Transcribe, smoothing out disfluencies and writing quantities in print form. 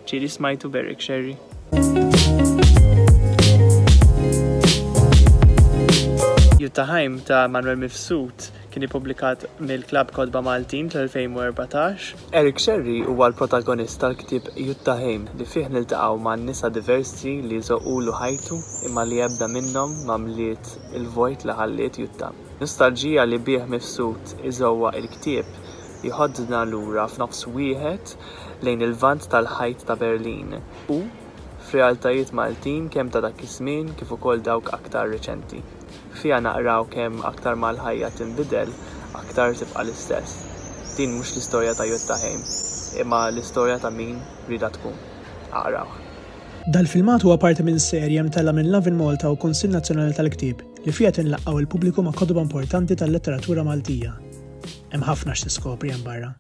Ġieli smajtu b'Eric Scerri? Jutta Heim ta' Manuel Mifsud kien ippubblikat mill-Klabb Kotba Maltin fl-2014. Eric Scerri huwa l-protagonist tal-ktieb Jutta Heim li fih niltaqgħu ma' nisa diversi li żoqqulu ħajtu imma li ebda minnhom ma mliet il-vojt li ħalliet Jutta. Nostalġija li bih Mifsud iżewwaq il-ktieb jħoddna lura f'nofs wieħed lejn il-Lvant tal-Ħajt ta' Berlin u f'realtajiet Maltin kemm ta' dak iż-żmien kif ukoll dawk aktar riċenti. Fiha naqraw kemm aktar ma l-ħajja tinbidel, aktar tibqa' l-istess. Din mhux l-istorja ta' Jutta Heim, imma l-istorja ta' min riedha tkun. Aqrawh. Dal-filmat huwa parti minn serje mtellgħa minn Lovin Malta u Kunsill Nazzjonali tal-Ktieb li fiha qed inlaqqgħu il-pubbliku ma' kotba importanti tal-letteratura Maltija. Hemm ħafna x'tiskopri hemm barra.